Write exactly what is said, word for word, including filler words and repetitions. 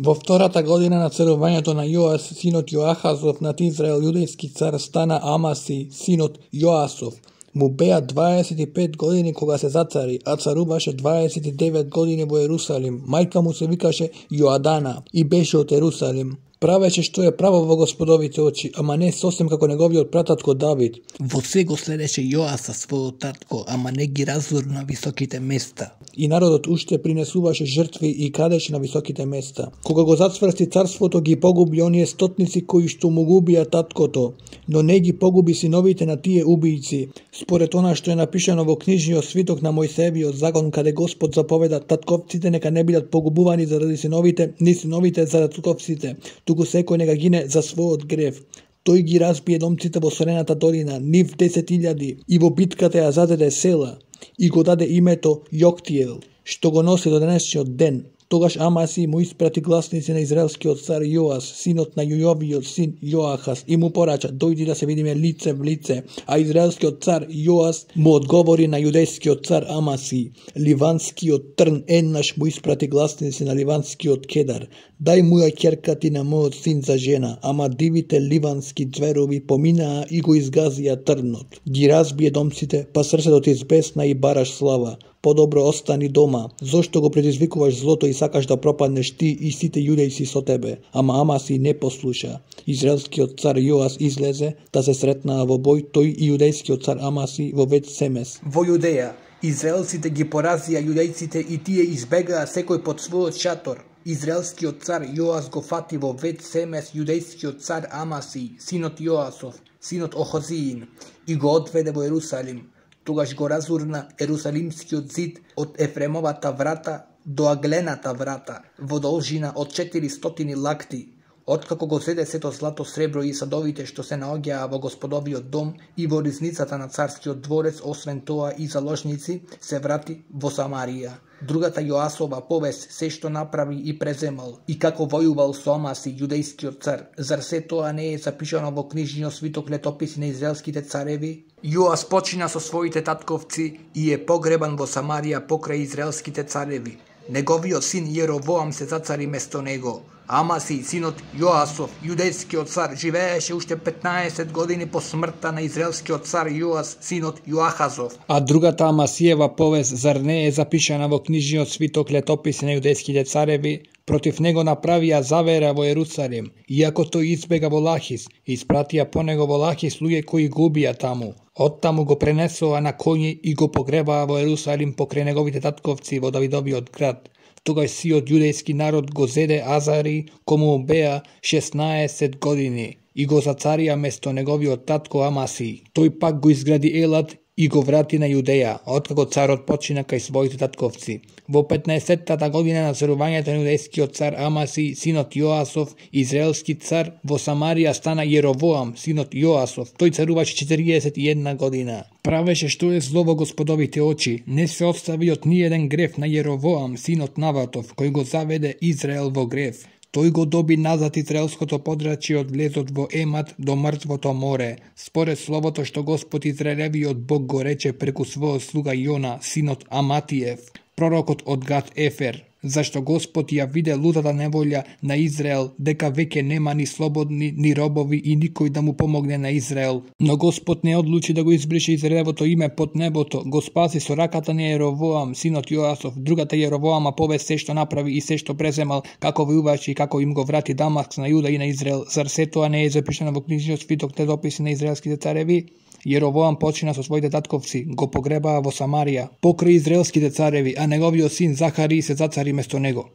Во втората година на царувањето на Јоас, синот Јоахазов, над Израел јудејски цар стана Амаси, синот Јоасов. Му беа дваесет и пет години кога се зацари, а царуваше дваесет и девет години во Ерусалим. Мајка му се викаше Јоадана и беше од Ерусалим. Правеше што е право во Господовите очи, ама не сосем како неговиот прататко Давид. Во се го следеше Јоаса својот татко, ама не ги разурна на високите места. И народот уште принесуваше жртви и крадеше на високите места. Кога го зацврсти царството, ги погуби оние стотници кои што му губија таткото, но не ги погуби синовите на тие убијци, според она што е напишано во книжниот свиток на Мојсеевиот закон, каде Господ заповеда татковците нека не бидат погубувани заради синовите, ни синовите заради татковците, туку секој нека гине за својот грев. Тој ги разбие домците во Солената долина, нив десет илјади, и во битката ја задеде села, и го даде името Јоктиел, што го носи до денешниот ден. Тогаш Амаси му испрати гласници на израелскиот цар Јоас, синот на Јојовиот син Јоахаз, и му порача: дојди да се видиме лице в лице. А израелскиот цар Јоас му одговори на јудејскиот цар Амаси: ливанскиот трн еднаш му испрати гласници на ливанскиот кедар: дај му ја ќерка ти на мојот син за жена. Ама дивите ливански ѕверови поминаа и го изгазија трнот. Ги разбие домците, па срцето ти избесна и бараш слава. Подобро остани дома. Зошто го предизвикуваш злото и сакаш да пропаднеш ти и сите јудејци со тебе? Ама Амаси не послуша. Израелскиот цар Јоас излезе да се сретнаа во бој, тој и јудејскиот цар Амаси во Вет Семес. Во Јудеја, израелците ги поразија јудејците и тие избегаа секој под својот шатор. Израелскиот цар Јоас го фати во Вет Семес јудејскиот цар Амаси, синот Јоасов, синот Охозиин, и го одведе во Ерусалим. Тогаш го разурна Ерусалимскиот зид од Ефремовата врата до Аглената врата, во должина од четиристотини лакти. Откако го зеде сето злато, сребро и садовите што се наоѓаа во Господовиот дом и во ризницата на царскиот дворец, освен тоа и заложници, се врати во Самарија. Другата Јоасова повест, се што направи и преземал, и како војувал со Амаси, јудејскиот цар, зар се тоа не е запишано во книжниот свиток летописи на израелските цареви? Јоас почина со своите татковци и е погребан во Самарија покрај израелските цареви. Неговиот син Јеровоам се зацари место него. Амаси, синот Јоасов, јудејскиот цар, живееше уште петнаесет години по смртта на израелскиот цар Јоас, синот Јоахазов. А другата Амасиева повест зар не е запишана во книжниот свиток летописи на јудејските цареви? Против него направија завера во Ерусалим, иако тој избега во Лахис, и испратија по него во Лахис луѓе кои го убија таму. Оттаму го пренесоа на коњи и го погребаа во Ерусалим покрај неговите татковци во Давидовиот град. Тогаш сиот јудејски народ го зеде Азари, кому беа шеснаесет години, и го зацарија место неговиот татко Амаси. Тој пак го изгради Елат и го врати на Јудеја, откако царот почина кај своите татковци. Во петнаесеттата година на царувањето на јудејскиот цар Амаси, синот Јоасов, израелски цар, во Самарија стана Јеровоам, синот Јоасов. Тој царуваше четириесет и една година. Правеше што е зло во Господовите очи. Не се остави од ниеден грев на Јеровоам, синот Наватов, кој го заведе Израел во грев. Тој го доби назад израелското подрачје од влезот во Емат до мртвото море, според словото што Господ Израелевиот Бог го рече преку својот слуга Јона, синот Аматиев, пророкот од Гат Ефер. Зашто Господ ја виде лутата неволја на Израел, дека веќе нема ни слободни, ни робови и никој да му помогне на Израел. Но Господ не одлучи да го избрише Израелевото име под небото, го спаси со раката на Јеровоам, синот Јоасов. Другата Јеровоама повест се што направи и се што преземал, како војуваше и како им го врати Дамаск на Јуда и на Израел. Зар се тоа не е запишано во книжниот свиток летописи на израелските цареви? Јеровоам почина со своите татковци, го погребаа во Самарија, покрај израелските цареви, а неговиот син Захари се зацари место него.